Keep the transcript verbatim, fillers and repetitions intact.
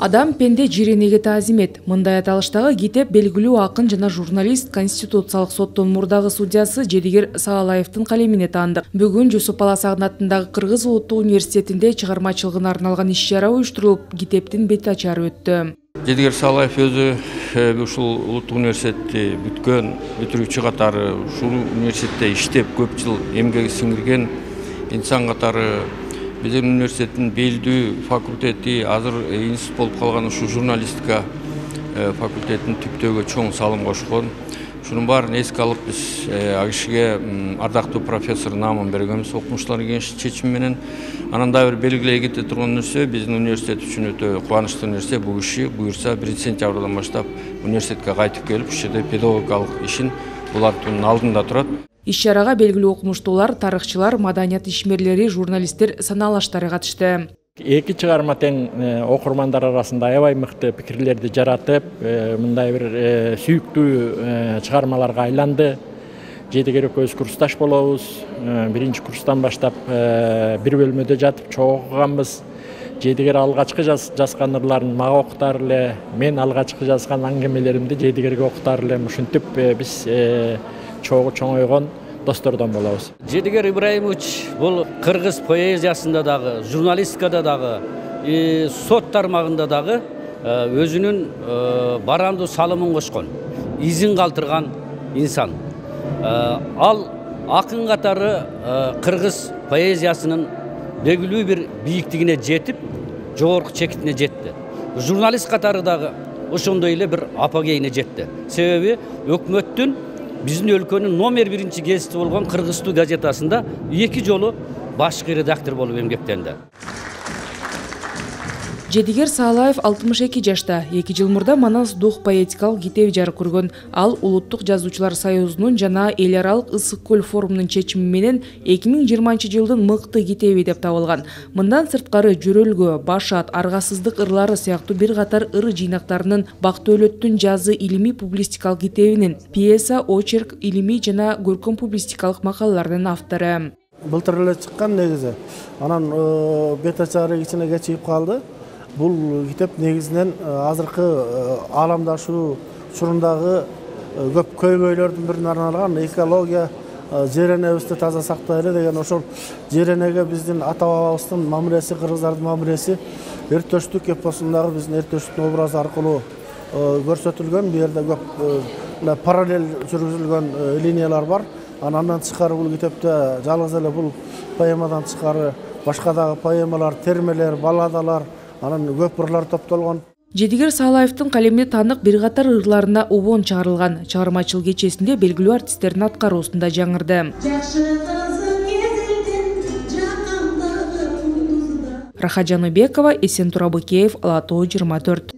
Адам пенде жиренеге таазимет. Мындай аталыштагы китеп белгилүү акын жана журналист, Конституциялык соттун мурдагы судьясы Жедигер Саалаевдин калемине таандык. Бүгүн Жусуп Баласагын атындагы Кыргыз Улуттук университетинде чыгармачылыгына арналган иш-чара уюштурулуп, китептин бет ачары өттү. Жедигер Саалаев өзү ушул Улуттук университетти бүткөн, бүтүрүүчү катары, ушул университетте иштеп көп жыл эмгек сиңирген инсан катары биздин университеттин белдүү факультети, азыр институт болуп калган ушу журналистика факультетин түптөөгө чоң салым кошкон. Шунун баарын эске алып биз ал кишиге ардактуу профессор наамын бергенбиз окумуштуулар кеңеши чечими менен. Анан дагы бир белгилей кете турган нерсе, биздин университет үчүн өтө кубанычтуу нерсе, бул киши буюрса биринчи сентябрдан баштап университетке кайтып келип, ушул жерде педагогикалык ишин булардын алдында турат. Иш-чарага белгилүү окумуштуулар, тарыхчылар, маданият ишмерлери, журналисттер, санаалаштары катышты. Эки чыгарма тең окурмандар арасында аябай мыкты пикирлерди жаратып, мындай бир сүйүктүү чыгармаларга айланды. Жедигер экөөбүз курсташ болобуз. Биринчи курстан баштап бир бөлмөдө жатып чогуу окуганбыз. Жедигер алгачкы жазган ырларын мага окутар эле, мен алгачкы жазган аңгемелеримди Жедигерге окутар элем. Ушинтип биз чогуу чоңойгон достордон болобуз. Жедигер Ибраимович бул кыргыз поэзиясында дагы, журналистикада дагы, сот тармагында дагы өзүнүн барандуу салымын кошкон, изин калтырган инсан. Ал акын катары кыргыз поэзиясынын белгилүү бир бийиктигине жетип, жогорку чекитине жетти. Журналист катары дагы ошондой эле бир апогейине жетти. Себеби өкмөттүн биздин өлкөнүн номер биринчи гезити болгон Кыргызстуу газетасында эки жолу башкы редактор болуп эмгектенди. Жедигер Саалаев алтымыш эки жашта. эки жыл мурда Манас дух поэтикалык китеби жарык көргөн. Ал Улуттук жазуучулар союзунун жана эл аралык Ысык көл форумунун чечими менен эки миң жыйырманчы жылдын мыкты китеби деп табылган. Мындан сырткары Жөрөлгө, Башат, Аргасыздык ырлары сыяктуу бир катар ыр жыйнактарынын, Бактөөлөттүн жазы илимий публистикалык китебинин, пьеса, очерк, илимий жана көркөм публистикалык макалалардын автору. Былтыр эле чыккан негизи. Анан бет ачары кичине кечигип калды. Бул китеп негизинен азыркы ааламдашуу учурундагы көп көйгөйлөрдүн бирине арналган экология, жер энебизди таза сактайлы деген ошол жер энеге биздин ата бабабыздын мамилеси, кыргыздардын мамилеси эртөштүк эпосундагы биздин эртөштүктүн образы аркылуу көрсөтүлгөн. Бу жерде көп параллель жүргүзүлгөн линиялар бар. Андан тышкары бул китепте жалгыз эле бул поэмадан тышкары башка дагы поэмалар, термелер, балладалар, анан көп ырлар топтолгон. Жедигер Саалаевдин калемине таандык бир катар ырларына убон чыгарылган. Чыгармачылык кечесинде белгилүү артисттердин аткаруусунда жаңырды. Рахат Жаныбекова, Эсен Турабыкеев, Ала Тоо жыйырма төрт.